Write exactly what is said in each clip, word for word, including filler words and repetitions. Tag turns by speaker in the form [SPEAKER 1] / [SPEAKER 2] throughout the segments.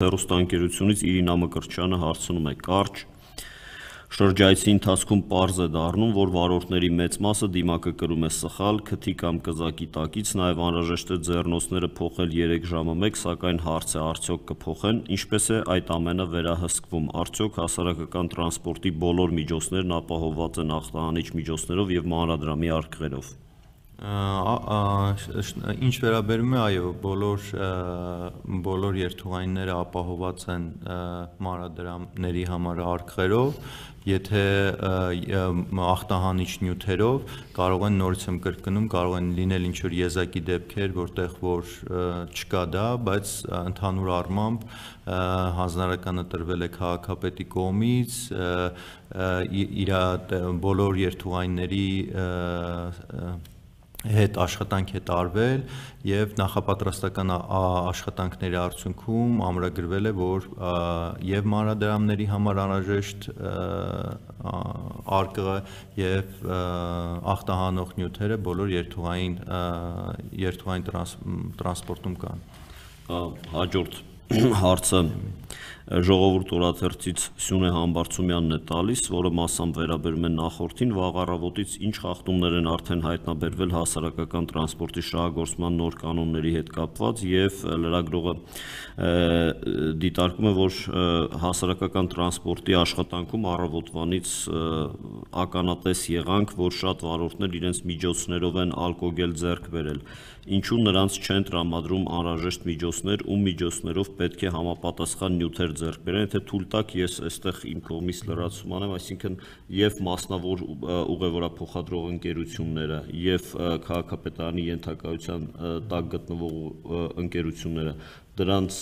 [SPEAKER 1] Հեռուստաընկերությունից Իրինա Մկրտչյանը հարցնում է. կարճ շրջայցի ընթացքում պարզ է դառնում, որ վարորդների մեծ մասը դիմակը կրում է սխալ, քթի կամ կզակի տակից, նաև անհրաժեշտ է ձեռնոցները փոխել երեք ժամը մեկ, սակայն հարց է արդյոք կփոխեն, ինչպես է այդ ամենը վերահսկվում, արդյոք հասարակական տրանսպորտի բոլոր միջոցներն ապահովված են ախտահանիչ միջոցներով և մանրադրամի արկղերով։
[SPEAKER 2] Ինչ վերաբերում է, այո, բոլոր բոլոր երթուղայինները ապահովված են մանրադրամների համար արկղերով, եթե ախտահանիչ նյութերով կարող են, նորից եմ կրկնում, կարող են լինել ինչ-որ եզակի դեպքեր, որտեղ որ չկա դա, բայց ընդհանուր առմամբ հանձնարարականը տրվել է քաղաքապետի կողմից, իր բոլոր երթուղայինների հետ աշխատանք է տարվել և նախապատրաստական աշխատանքների արդյունքում ամրագրվել է, որ և մանրադրամների համար անհրաժեշտ արկղը և ախտահանող նյութերը բոլոր երթուղային տրանսպորտում կան։
[SPEAKER 1] Հաջորդ հարցը Ժողովուրդ օրաթերթից Սյունե Համբարձումյանն է տալիս, որը մասամբ վերաբերում է նախորդին, վաղ առավոտից ինչ խախտումներ են արդեն հայտնաբերվել հասարակական տրանսպորտի շահագործման նոր կանոնների հետ կապված և լրագրողը դիտարկում է, որ հասարակական տրանսպորտի աշխատանքում առավոտվանից ականատես եղանք, որ շատ վարորդներ իրենց միջոցներով են ալկոգել ձեռք բերել, ինչու նրանց չեն տրամադրում անհրաժեշտ միջոցներ, ում միջոցներով պետք է համապատասխան նյութեր ձեռք բերեն, եթե թույլ տաք, ես այստեղ իմ կողմից լրացում անեմ, այսինքն և մասնավոր ուղևորափոխադրող ընկերությունները և քաղաքապետարանի ենթակայության տակ գտնվող ընկերությունները, դրանց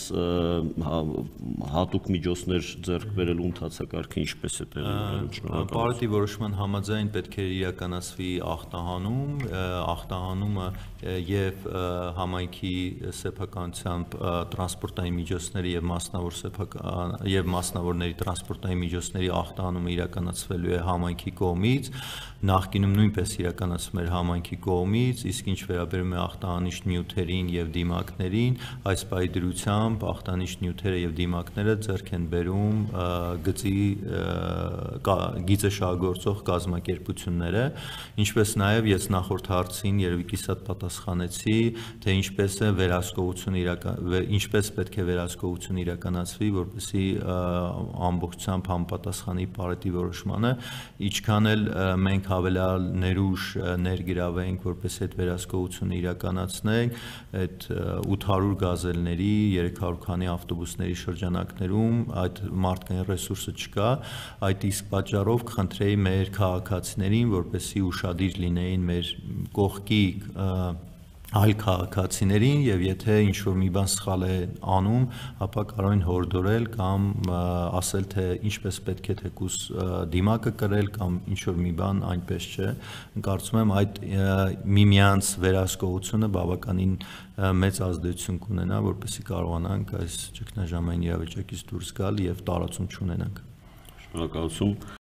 [SPEAKER 1] հատուկ միջոցներ ձեռք բերելու ընթացակարգը ինչպես է տեղի ունենում։
[SPEAKER 2] Պարետի որոշման համաձայն պետք է իրականացվի ախտահանում, ախտահանումը և համայնքի սեփականությամբ տրանսպորտային միջոցների և մասնավորների տրանսպորտային միջոցների ախտահանումը իրականացվելու է համայնքի կողմից, նախկինում նույնպես իրականացվում էր համայնքի կողմից, իսկ ինչ վերաբերում է ախտահանիչ նյութերին և դիմակներին, այս պահի դրությամբ ախտահանիչ նյութերը և դիմակները ձեռք են բերում գիծը շահագործող կազմակերպությունները, ինչպես նաև ես նախորդ հարցին երևի կիսատ պատասխանեցի, թե ինչպես է վերահսկողություն ինչպես պետք է վերահսկողություն իրականացվի, որպեսզի ամբողջությամբ համապատասխանի Պարետի որոշմանը, ինչքան էլ մենք հավելյալ ներուժ ներգրավենք, որպեսզի այդ վերահսկողությունը իրականացնենք, այդ ութ հարյուր գազելների, երեք հարյուր քանի ավտոբուսների շրջանակներում այդ մարդկային ռեսուրսը չկա, այդ իսկ պատճառով կխնդրեի մեր քաղաքացիներին, որպեսզի ուշադիր լինեին մեր կողքի այլ քաղաքացիներին և եթե ինչ-որ մի բան սխալ է անում, ապա կարող են հորդորել կամ ասել, թե ինչպես պետք է թեկուզ դիմակը կրել կամ ինչ-որ մի բան այնպես չէ, կարծում եմ այդ միմյանց վերահսկողությունը բավականին մեծ ազդեցություն կունենա, որպեսզի կարողանանք այս ճգնաժամային իրավիճակից դուրս գալ և տարածում չունենանք։
[SPEAKER 1] Շնորհակալություն։